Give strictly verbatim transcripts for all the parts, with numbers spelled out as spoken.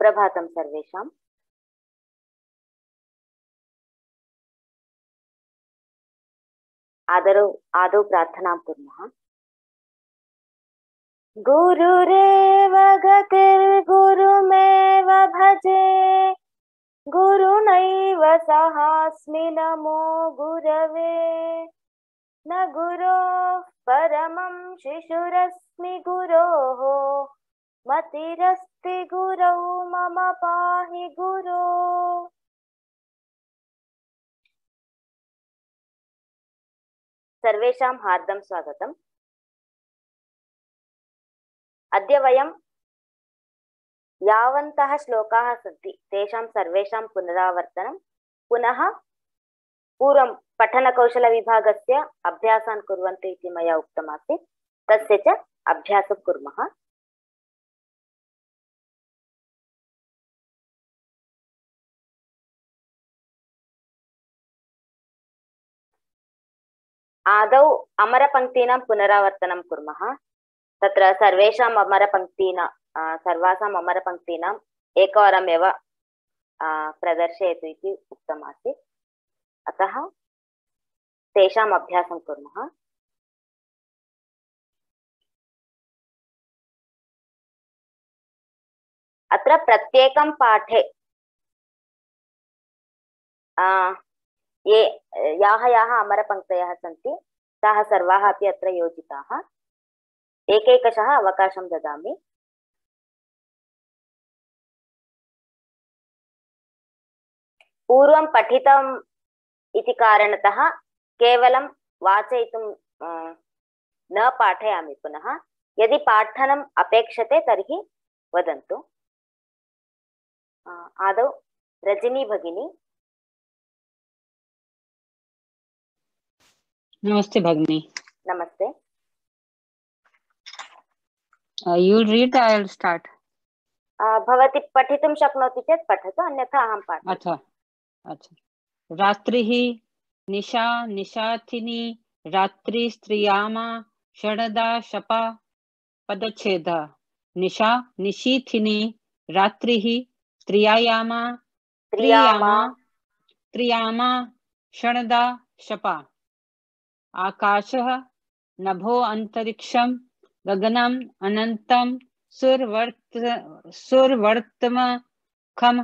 सुप्रभातं सर्वेषाम्। आदौ आदौ प्रार्थनां कुर्मः। गुरुरेव गतिर्गुरुमेव भजे, गुरुणैव सहास्मि नमो गुरवे। न गुरोः परमं शिशुरस्मि गुरोः, मतिरस्ति गुरौ मम पाहि गुरो। सर्वेषां हार्दं स्वागतम्। अद्य वयं यावन्तः श्लोकाः सन्ति तेषां सर्वेषां पुनरावर्तनं, पुनः पूर्वं पठनकौशलविभागस्य अभ्यासान् कुर्वन्तु इति मया उक्तमासीत्, तस्य च अभ्यासं कुर्मः। आदौ अमरपङ्क्तीनां पुनरावर्तनं कुर्मः। तत्र सर्वेषाम् अमरपङ्क्तीनां सर्वासाम् अमरपङ्क्तीनाम् एकवारमेव प्रदर्शयतु इति उक्तमासीत्, अतः तेषाम् अभ्यासं कुर्मः। अत्र प्रत्येकं पाठे ये याः याः अमरपङ्क्तयः सन्ति ताः सर्वाः अपि अत्र योजिताः। एकैकशः अवकाशं ददामि। पूर्वं पठितम् इति कारणतः केवलं वाचयितुं न पाठयामि पुनः। यदि पाठनम् अपेक्षते तर्हि वदन्तु। आदौ रजनी भगिनी। नमस्ते भगिनी। नमस्ते। You will read, I will start. भवती पठितुं शक्नोति चेत् पठतु, अन्यथा अहं पाठयामि। अच्छा अच्छा। रात्रिः निशा निशाथिनी, रात्रि स्त्रियामा षडदा शपा पदच्छेद। निशा निशीथिनी, रात्रिः स्त्रियायामा त्रियामा त्रियामा षडदा शपा। आकाशः नभो अंतरिक्षं गगनम् अनंतं सुरवर्त सुरवर्तमखम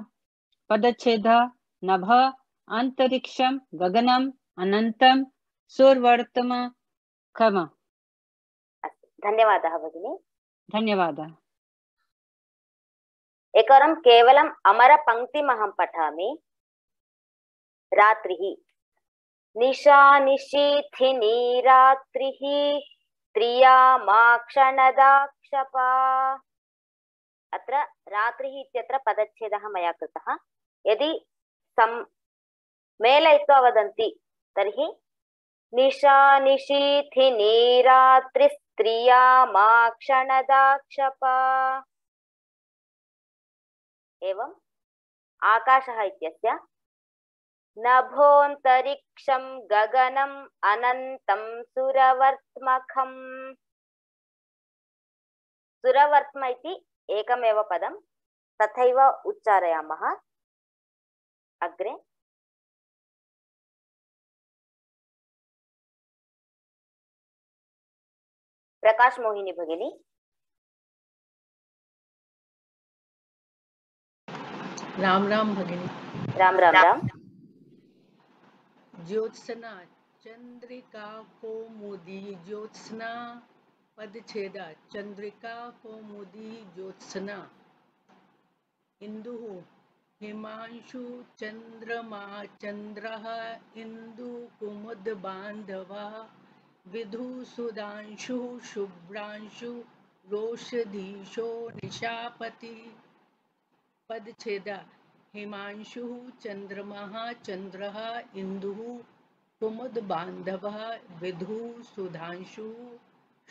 पदच्छेद। नभ अंतरिक्षं गगनम् अनंतं सुरवर्तमखम। धन्यवादः भगिनी। धन्यवादः। एकवारं केवलम् अमरपङ्क्तिम् अहं पठामि। रात्रिः निशा निशीथिनी, रात्रिः त्रियामाक्षणदाक्षपा। अत्र रात्रिः इत्यत्र पदच्छेदः मया कृतः। यदि सं मेलयित्वा वदन्ति तर्हि निशा निशीथिनी, रात्रिस्त्रियामाक्षणदाक्षपा। एवम् आकाशः इत्यस्य नभोऽन्तरिक्षं गगनम् अनन्तं सुरवर्त्मखम्। सुरवर्त्म इति एकमेव पदं, तथैव उच्चारयामः। अग्रे प्रकाश मोहिनी भगिनी। राम राम भगिनी। राम राम राम। ज्योत्सना चंद्रिका कौमुदी ज्योत्सना पदच्छेद। चंद्रिका कौमुदी ज्योत्सना। इंदुः हिमांशु चंद्रमा चंद्रः इंदु कुमुद बांधवः। विधु सुधांशु शुभ्रांशु रोषधीशो निशापति। पदच्छेद। हिमांशु चंद्रमः चंद्रः इंदुः कुमुद बांधवः। विधु सुधांशु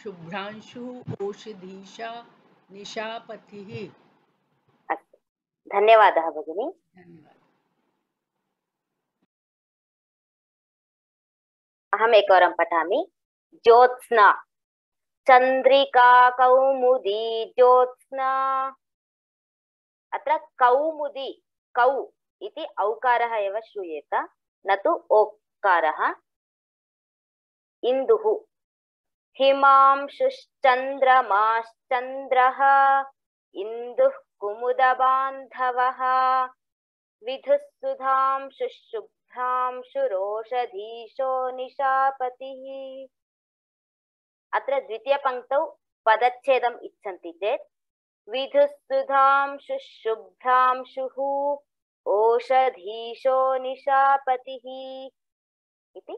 शुभ्रांशु ओषधीशा निशापतिः। अस्तु, धन्यवादः भगिनी। धन्यवादः। अहम् एकवारं पठामि। ज्योत्स्ना चंद्रिका कौमुदी ज्योत्स्ना अत्र कौमुदी कौ इति औकारः एव श्रूयेत न तु ओकारः इन्दुः हिमांशुश्चन्द्रमाश्चन्द्रः इन्दुः कुमुदबान्धवः विधुः सुधांशुशुभ्रांशुरोषधीशो निशापतिः अत्र द्वितीयपङ्क्तौ पदच्छेदम् इच्छन्ति चेत् विधुः सुधांशुशुभ्रांशुः ओषधीशो निशापतिः इति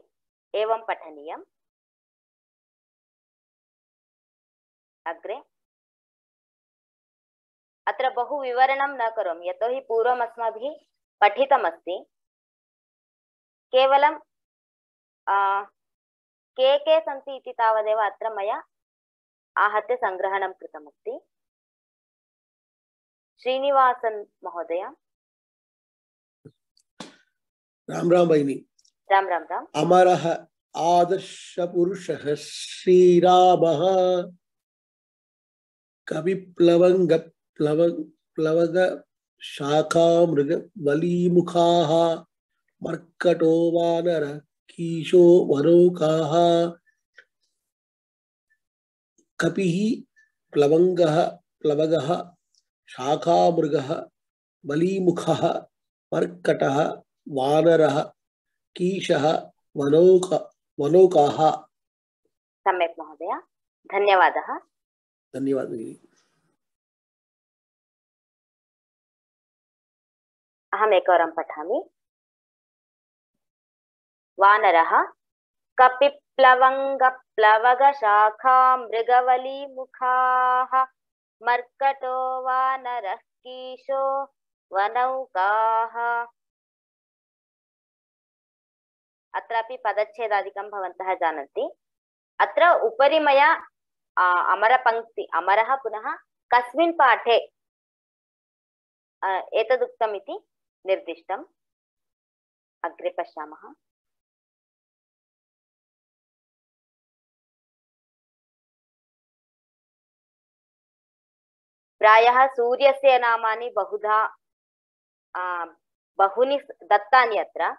एवं पठनीयम्। अग्रे अत्र बहु विवरणं न करोमि यतोहि पूर्वम् अस्माभिः पठितमस्ति। केवलं के के सन्ति इति तावदेव अत्र मया आहत्य सङ्ग्रहणं कृतमस्ति। श्रीनिवासन महोदय। राम राम भगिनी। राम राम राम। अमरः आदर्शपुरुषः श्रीरामः कविप्लवंग प्लवंग प्लवग शाखामृग बलीमुखाः मर्कटो वानर कीशो वरोकाः कपिः प्लवंगः प्लवगः शाखामृगः बलीमुखः मर्कटः वानरः कीशः वनौक वनौकाः। सम्यक् महोदय, धन्यवादः। धन्यवादः। अहम् एकवारं पठामि। वानरः कपिप्लवङ्गप्लवगशाखा मृगवलीमुखाः मर्कटो वानरः कीशो वनौकाः। अत्रापि पदच्छेदादिकं भवन्तः जानन्ति। अत्र उपरि मया अमरपङ्क्ति अमरः पुनः कस्मिन् पाठे एतदुक्तम् इति निर्दिष्टम्। अग्रे पश्यामः। प्रायः सूर्यस्य नामानि बहुधा बहूनि दत्तानि अत्र,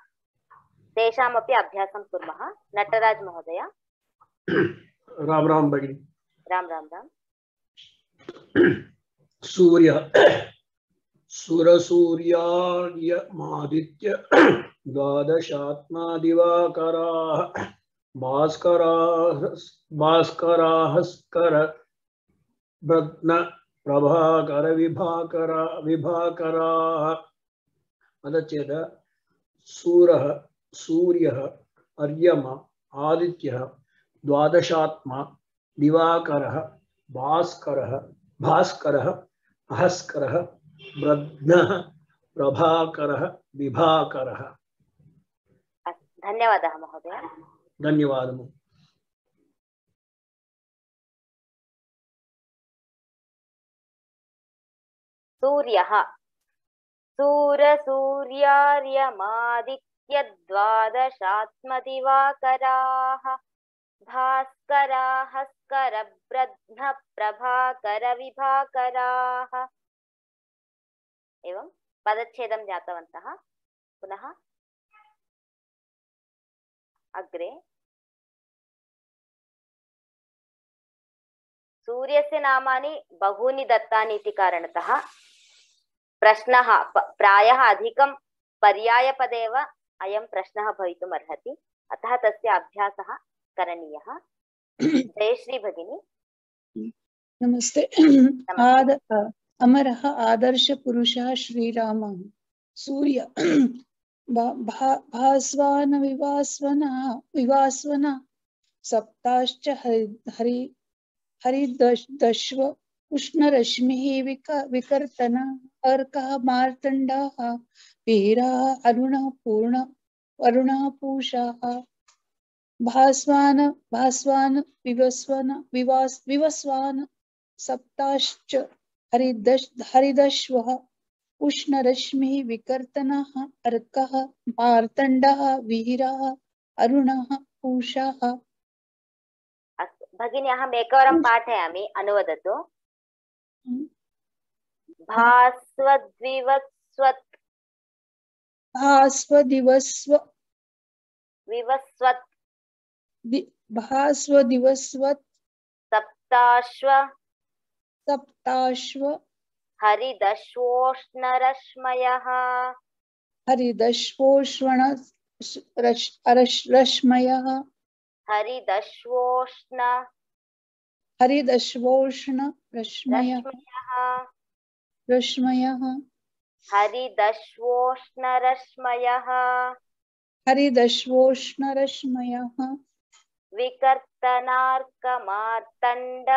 तेषामपि अभ्यासं कुर्मः। नटराज महोदय। राम राम भगिनी। राम राम राम। सूर्य सुरसूर्यार्यमादित्य द्वादशात्मा दिवाकराः भास्कराः भास्कराहस्कर ब्रध्न प्रभाकर विभाकरा विभाकराः। अदचेद सूरः सूर्यः अर्यमा आदित्यः द्वादशात्मा दिवाकरः भास्करः भास्करः भास्करः ब्रध्नः प्रभाकरः विभाकरः। धन्यवादः महोदय। धन्यवादः। सूर्यः सूरसूर्यार्यमादित्यद्वादशात्मदिवाकराः भास्कराहस्करब्रध्न प्रभाकरविभाकराः। एवं पदच्छेदं ज्ञातवन्तः। पुनः अग्रे सूर्यस्य नामानि बहूनि दत्तानि इति कारणतः प्रश्नः प्रायः अधिकं पर्यायपदेव अयं प्रश्नः भवितुम् अर्हति, अतः तस्य अभ्यासः करणीयः। जयश्री भगिनी। नमस्ते। आद अमरः आदर्श पुरुषः श्रीरामः सूर्य भास्वान विवास्वन विवास्वन सप्ताश्च हरि हरिदश्व उष्णरश्मिः विकर्तन अर्कः मार्तण्डः वीरः अरुणः पूर्ण अरुणः पूषः भास्वान भास्वान विवस्वन विवास विवस्वान सप्ताश्च हरिदश हरिदश्वः उष्णरश्मिः विकर्तनः अर्कः मार्तण्डः वीरः अरुणः पूषः। भगिनी, अहम् एकवारं पाठयामि, अनुवदतु। भास्वद्विवस्वत् भास्वदिवस्व विवस्वत् दि- भास्वदिवस्वत् सप्ताश्व सप्ताश्व हरिदश्वोष्णरश्मयः हरिदश्वोष्ण रश्- अरश्- रश्मयः हरिदश्वोष्ण हरिदश्वोष्ण रश्मयः रश्मयः रश्मयः हरिदश्वोष्णरश्मयः हरिदश्वोष्ण रश्मयः विकर्तनार्कमार्तण्ड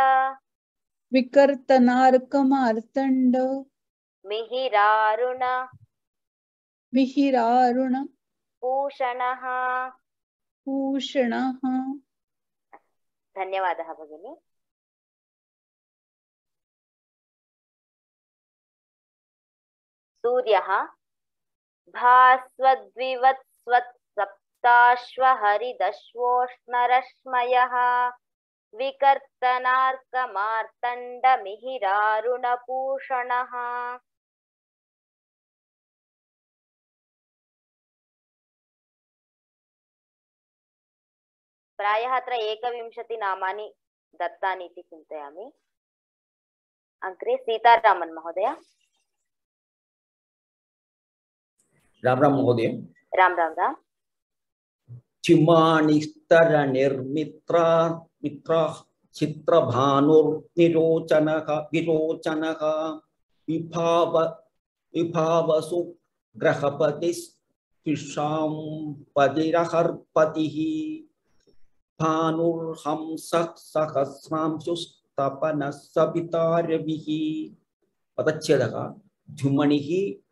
विकर्तनार्कमार्तण्ड मिहिरारुण मिहिरारुण पूषणः। पूषणः। धन्यवादः भगिनी। सूर्यः भास्वद्विवत्स्वत् सप्ताश्व हरिदश्वोष्णरश्मयः विकर्तनार्कमार्तण्ड मिहिरारुणपूषणः। प्रायः अत्र एकविंशति नामानि दत्तानि इति चिन्तयामि। अग्रे सीतारामन् महोदय। राम राम महोदय। राम राम राम। चिमानिस्तर निर्मित्रा मित्रा चित्रभानुर्निरोचनः विरोचनः विभाव विभावसु ग्रहपतिस्विषां पतिरहर्पतिः भानुर्हंसः सहस्रांशुस्तपनः सविता रविः। पदच्छेदः द्युमणिः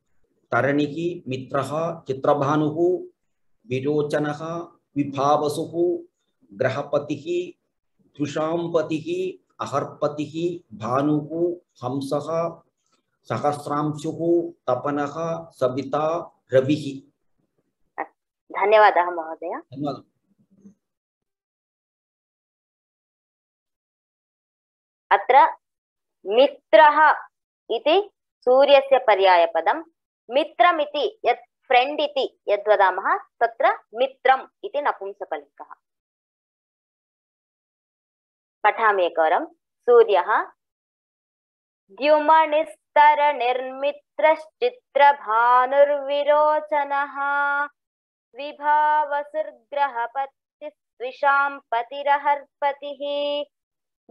तरणिः मित्रः चित्रभानुः विरोचनः विभावसुः ग्रहपतिः द्विषांपतिः अहर्पतिः भानुः हंसः सहस्रांशुः तपनः सविता रविः। धन्यवादः महोदय। धन्यवादः। अत्र मित्रः इति सूर्यस्य पर्यायपदं, मित्रमिति यत् फ्रेंड इति यद्वदामः तत्र मित्रम् इति नपुंसकलिङ्गः। पठामि एकवारं। सूर्यः द्युमणिस्तरनिर्मित्रश्चित्रभानुर्विरोचनः विभावसुर्ग्रहपतिस्विषां पतिरहर्पतिः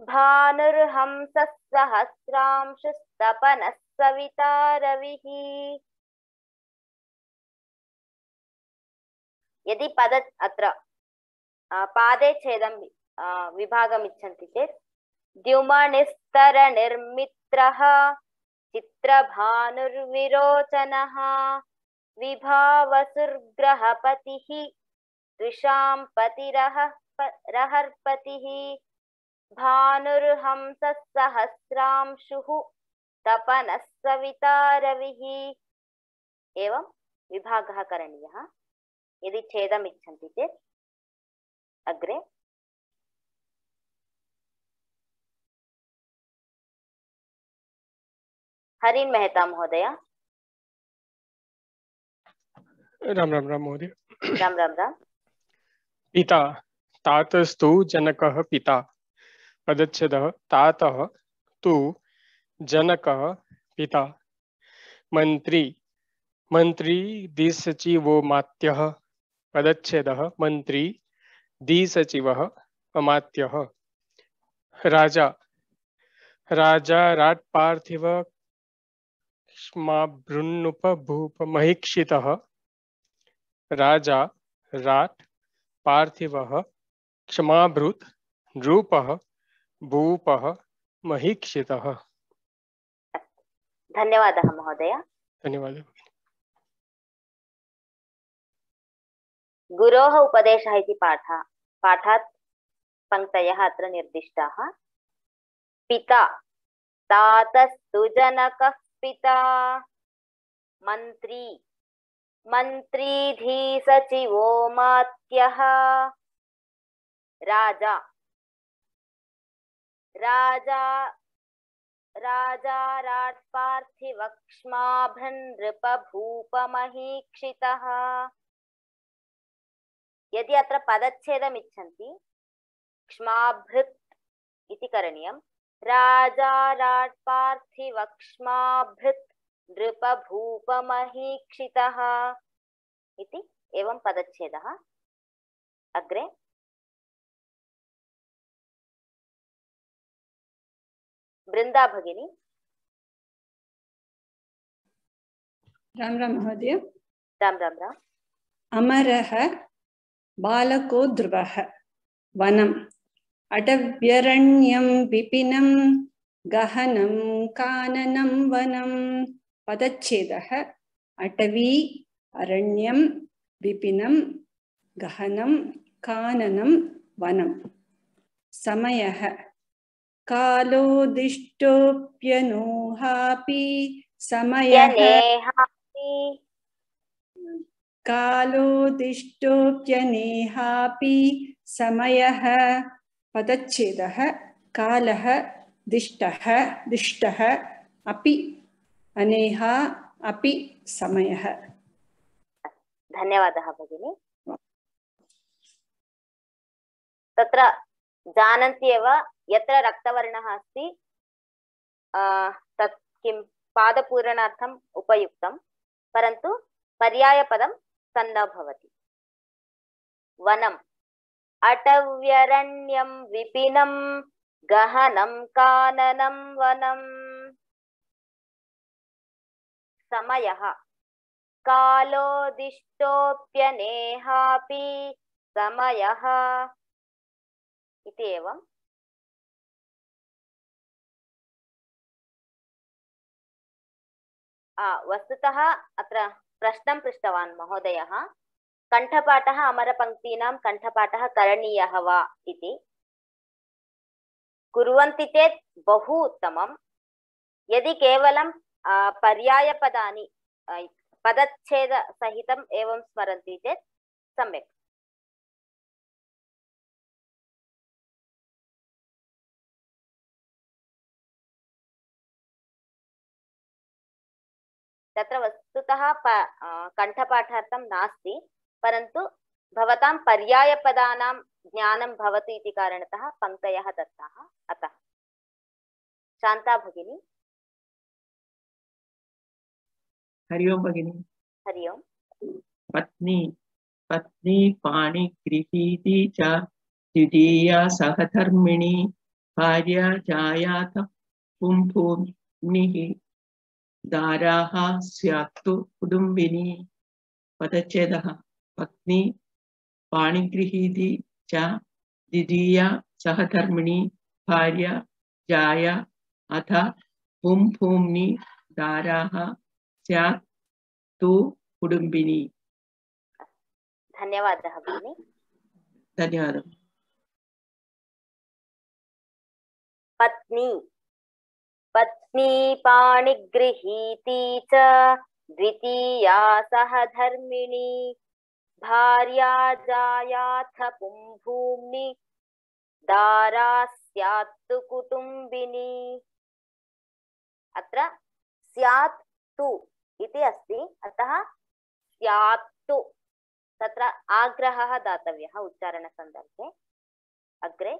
भानुर्हंसः सहस्रांशुस्तपनः सविता रविः। यदि पद अत्र पादे छेदं विभागम् इच्छन्ति चेत् द्युमणिस्तरनिर्मित्रः चित्रभानुर्विरोचनः विभावसुर्ग्रहपतिः द्विषां पतिरहर्पतिः भानुर्हंसः सहस्रांशुः तपनः सविता रविः। एवं विभागः करणीयः। यदि छेदम् इच्छन्ति चेत् अग्रे हरिन् मेहता महोदय। राम राम राम महोदय। राम राम राम। पिता तातस्तु जनकः पिता। पदच्छेदः तातः तु जनकः पिता। मंत्री मंत्री दिसचिवो मात्यः। पदच्छेदः मंत्री दिसचिवः अमात्यः। राजा राजा राट पार्थिव क्षमाभृन्नुपभूपमहीक्षितः। राजा राट पार्थिवः क्षमाभृत् नृपः भूपः महीक्षितः। धन्यवादः महोदय। धन्यवादः। गुरोः उपदेशः इति पाठः पाठात् पङ्क्तयः अत्र निर्दिष्टाः। पिता तातस्तु जनकः पिता। मन्त्री मन्त्री धीसचिवो मात्यः। राजा राजा राजाराट् पार्थिवक्ष्माभृन् नृपभूपमहीक्षितः। यदि अत्र पदच्छेदम् इच्छन्ति क्ष्माभृत् इति करणीयम्। राजाराट् पार्थिवक्ष्माभृत् नृपभूपमहीक्षितः इति एवं पदच्छेदः। अग्रे वृंदा भगिनी। राम राम महोदय। राम राम राम। अमरः बालको ध्रुवः वनम् अटव्यरण्यं विपिनं गहनं काननं वनं। पदच्छेदः अटवी अरण्यं विपिनं गहनं काननं वनं। समयः कालोदिष्टोऽप्यनोहापि समयः कालोदिष्टोऽप्यनेहापि समयः। पदच्छेदः कालः दिष्टः दिष्टः अपि अनेहा अपि समयः। धन्यवादः भगिनी। तत्र जानन्ति एव यत्र रक्तवर्णः अस्ति तत् किं पादपूरणार्थम् उपयुक्तं, परन्तु पर्यायपदं तन्न भवति। वनम् अटव्यरण्यं विपिनं गहनं काननं वनं। समयः कालोदिष्टोऽप्यनेहापि समयः इति एवं। वस्तुतः अत्र प्रश्नं पृष्टवान् महोदयः, कण्ठपाठः अमरपङ्क्तीनां कण्ठपाठः करणीयः वा इति। कुर्वन्ति चेत् बहु उत्तमं। यदि केवलं पर्यायपदानि पदच्छेदसहितम् एवं स्मरन्ति चेत् सम्यक्। तत्र वस्तुतः कण्ठपाठार्थं नास्ति, परन्तु भवतां पर्यायपदानां ज्ञानं भवति इति कारणतः पङ्क्तयः दत्ताः। अतः शान्ता भगिनी। हरि ओम भगिनी। हरि ओम। पत्नी पत्नी पाणिगृहीती च द्वितीया सहधर्मिणी भार्या जायाथ पुंभूम्निः दाराः स्यात्तु कुटुम्बिनी। पदच्छेदः पत्नी पाणिगृहीती च द्वितीया सहधर्मिणी भार्या जाया अथ पुंभूम्नि दाराः स्यात् तु कुटुम्बिनी। धन्यवादः भगिनी। धन्यवादः। पत्नी पत्नी पाणिगृहीती च द्वितीया सहधर्मिणी भार्या जायाथ पुंभूम्नि दारा स्यात्तु कुटुम्बिनी। अत्र स्यात् तु इति अस्ति, अतः स्यात्तु तत्र आग्रहः दातव्यः उच्चारणसन्दर्भे। अग्रे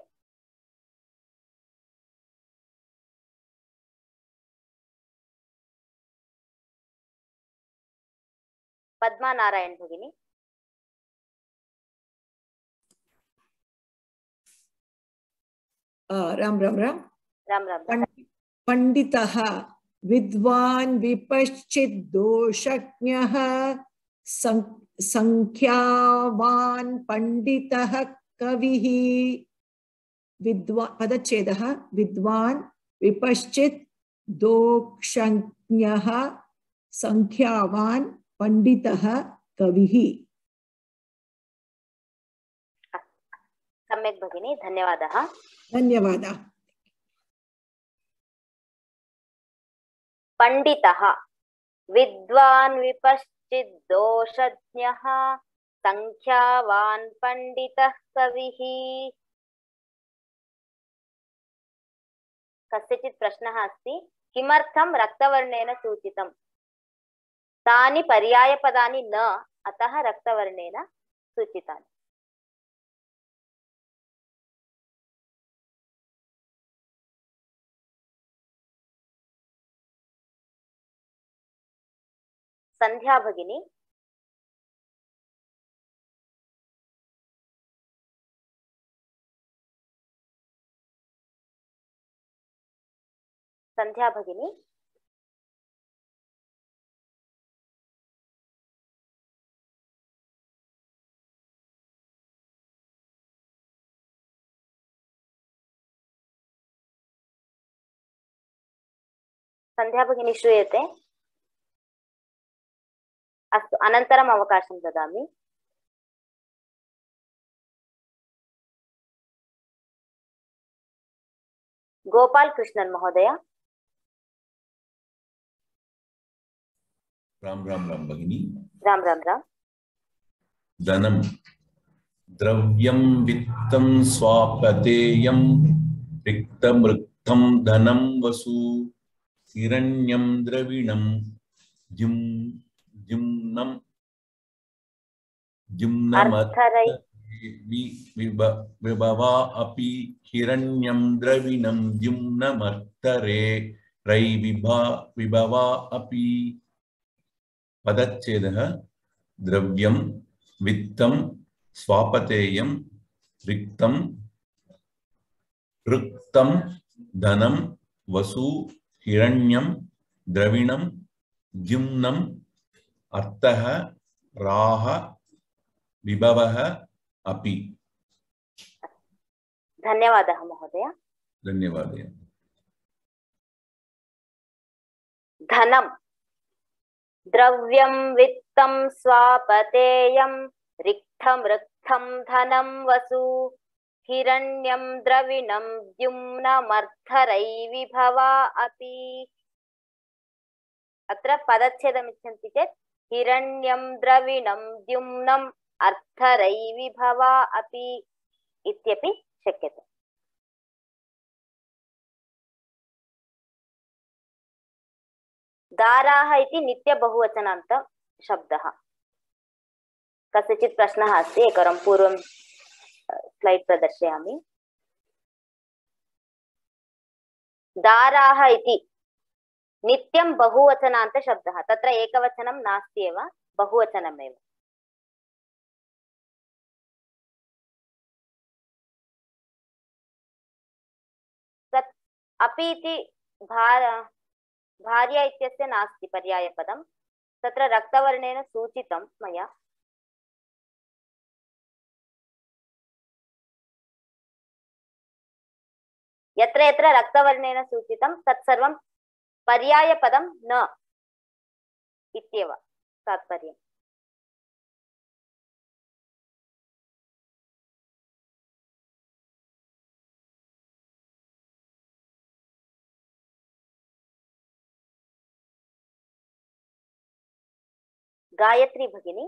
पद्मा नारायण भगिनी। राम राम राम राम राम। पंडितः विद्वान् विपश्चित् दोषज्ञः संख्यावान् पंडितः कविः। विद्वान् पदच्छेदः विद्वान् विपश्चित् दोषज्ञः संख्यावान् पंडितः कविः। सम्यक् भगिनी, धन्यवादः। धन्यवादः। पंडितः विद्वान् विपश्चित् दोषज्ञः संख्यावान् पंडितः कविः। कस्यचित् प्रश्नः अस्ति? किमर्थं रक्तवर्णेन सूचितम्? तानि पर्यायपदानि न, अतः रक्तवर्णेन सूचितानि। संध्या भगिनी। संध्या भगिनी। संध्या भगिनी श्रूयते? अस्तु, अनन्तरम् अवकाशं ददामि। गोपाल कृष्णन महोदय। राम राम राम भगिनी। राम राम राम। धनम द्रव्यं वित्तं स्वापतेयं रिक्तं रिक्तं धनं वसु हिरण्यं द्रविणं जुम जुम्नं जुम्नमर्थरै विभवा अपि हिरण्यं द्रविणं जुम्नमर्थरे रै विभा विभवा अपि। पदच्छेदः द्रव्यं वित्तं स्वापतेयं रिक्तं रिक्तं धनं वसु हिरण्यं द्रविणं जुम्नम् अर्थः राह विभवः अपि। धन्यवादः महोदय। धन्यवादः। धनं द्रव्यं वित्तं स्वापतेयं रिक्तं रिक्तं धनं वसु हिरण्यं द्रविणं द्युम्नमर्थरै विभवा अपि। अत्र पदच्छेदम् इच्छन्ति चेत् हिरण्यं द्रविणं द्युम्नम् अर्थरै विभवा अपि इत्यपि शक्यते। दाराः इति नित्यबहुवचनान्त शब्दः। कस्यचित् प्रश्नः अस्ति, एकवारं पूर्वं स्लैड् प्रदर्शयामि। दाराः इति नित्यं बहुवचनान्त शब्दः। तत्र एकवचनं नास्ति एव, बहुवचनमेव। तत् अपि इति भार भार्या इत्यस्य नास्ति पर्यायपदं, तत्र रक्तवर्णेन सूचितं मया। यत्र यत्र रक्तवर्णेन सूचितं तत्सर्वं पर्यायपदं न इत्येव तात्पर्यम्। गायत्री भगिनी।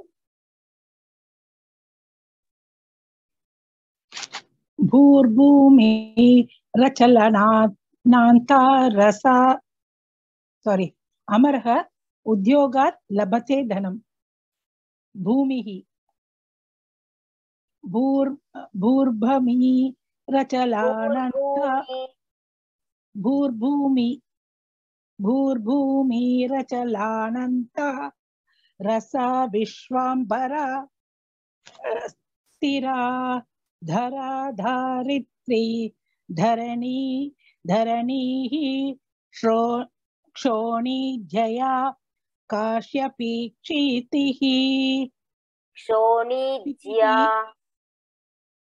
भूर्भूमि रचलनान्ता रसा सॉरी अमरः उद्योगात् लभते धनम्। भूमिः भूर् भूर्भूमि रचलानन्ता भूर्भूमि भूर्भूमि रचलानन्ता रसा विश्वाम्बरा स्थिरा धरा धारित्री धरणी धरणीः श्रो क्षोणीज्या काश्यपी क्षितिः। क्षोणीज्या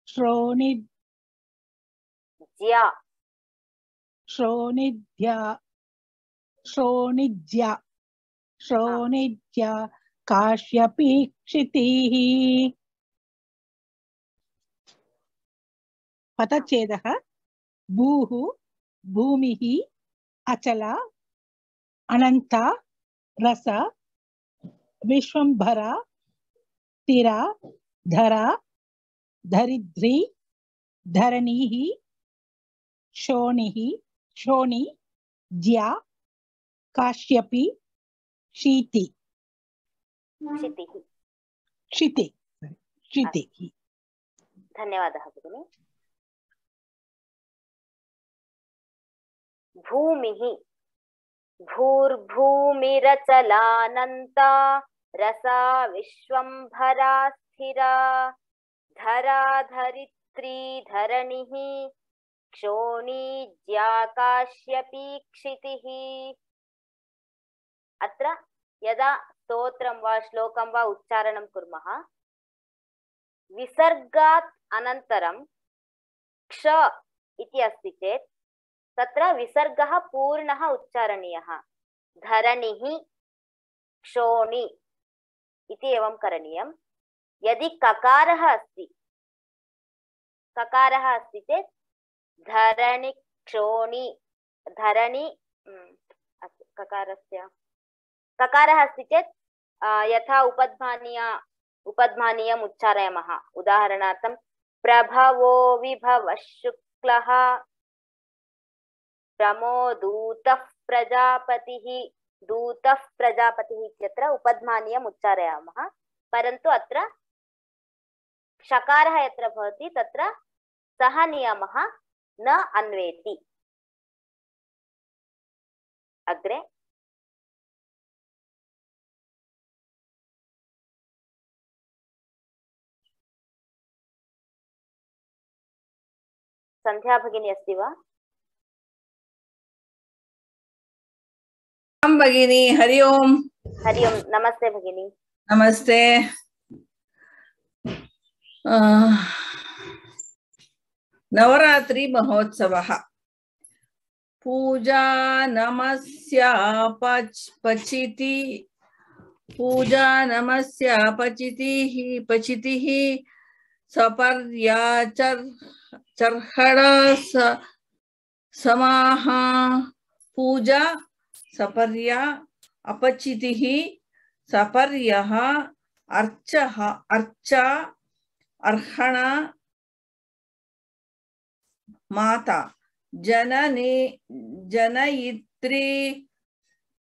श्रोणिज्या श्रोणिज्या श्रोणिज्या श्रोणिज्या काश्यपी क्षितिः। पदच्छेदः भूः भूमिः अचला अनन्ता रस विश्वम्भरा स्थिरा धरा धरित्री धरणीः शोणिः शोणि ज्या काश्यपि शीति क्षितिः। क्षिति क्षितिः। धन्यवादः भगिनी। भूमिः भूर्भूमिरचलानन्ता रसा विश्वम्भरा स्थिरा धरा धरित्री धरणिः क्षोणी ज्याकाश्यपी क्षितिः। अत्र यदा स्तोत्रं वा श्लोकं वा उच्चारणं कुर्मः विसर्गात् अनन्तरं क्ष इति अस्ति चेत् तत्र विसर्गः पूर्णः उच्चारणीयः। धरणिः क्षोणी इति एवं करणीयम्। यदि ककारः अस्ति ककारः अस्ति चेत् धरणि क्षोणी धरणि ककारस्य ककारः अस्ति चेत् यथा उपध्मानीय उपध्मानीयम् उच्चारयामः। उदाहरणार्थं प्रभवो विभवः शुक्लः प्रमोदूतः प्रजापतिः। दूतः प्रजापतिः इत्यत्र उपध्मानीयम् उच्चारयामः। परन्तु अत्र षकारः यत्र भवति तत्र सः नियमः न अन्वेति। अग्रे संध्या भगिनी अस्ति वा? भगिनी हरि ओम। हरि ओम। नमस्ते भगिनी। नमस्ते। नवरात्रि महोत्सवः पूजा नमस्या पच पचिति पूजा नमस्या पचितिः पचितिः सपर्याचर चर्हड़ा समाह पूजा सपर्या अपचितिः सपर्यः अर्चः अर्चा अर्हणा माता जननी जनयित्री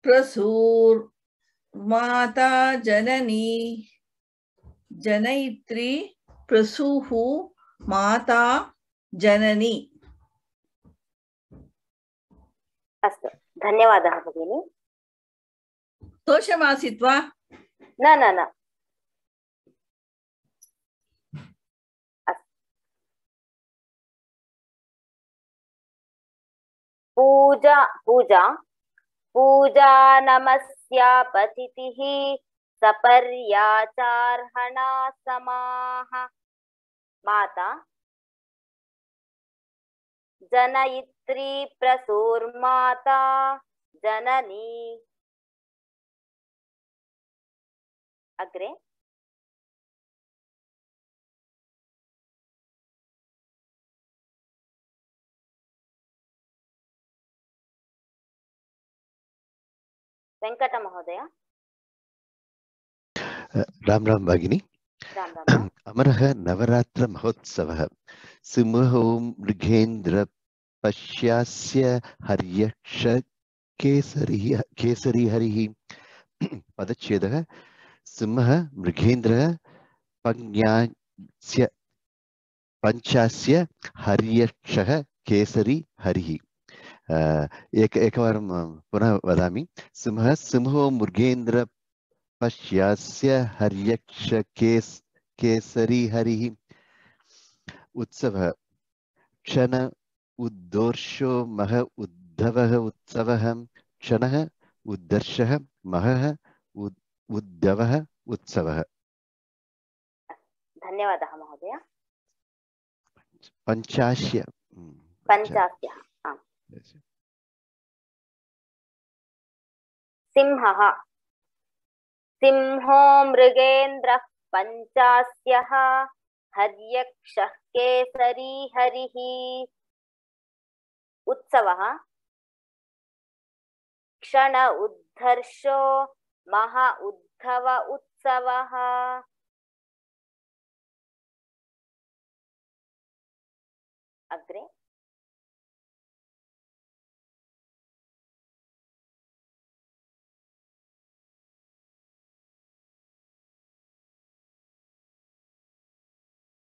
प्रसूर माता जननी जनयित्री प्रसूः माता जननी। अस्तु धन्यवादः भगिनी। दोषमासीत् वा? न न न। पूजा पूजा पूजा नमस्या पतितिः सपर्याचार्हणा समाः माता जनयित्री प्रसूर्माता जननी। अग्रे वेंकट महोदय। राम राम भगिनी। राम राम। अमरः नवरात्र महोत्सवः सिंहो मृगेन्द्र पश्यास्य हर्यक्ष केसरी केसरी हरिः। पदच्छेदः सिंहः मृगेन्द्रः पञ्चास्य पञ्चास्य हर्यक्षः केसरी हरिः। एक एकवारं पुनः वदामि। सिंहः सिंहो मृगेन्द्र पश्यास्य हर्यक्ष केस केसरी हरिः। उत्सवः क्षण उद्दोर्षो मह उद्धवः उत्सवः क्षणः उद्दर्शः महः उद्धवः उत्सवः। धन्यवादः महोदय। पञ्चास्य पञ्चास्य सिंहः सिंहो मृगेन्द्रः पञ्चास्यः हर्यक्षः केसरी हरिः। उत्सवः क्षण उद्धर्षो मह उद्धव उत्सवः। अग्रे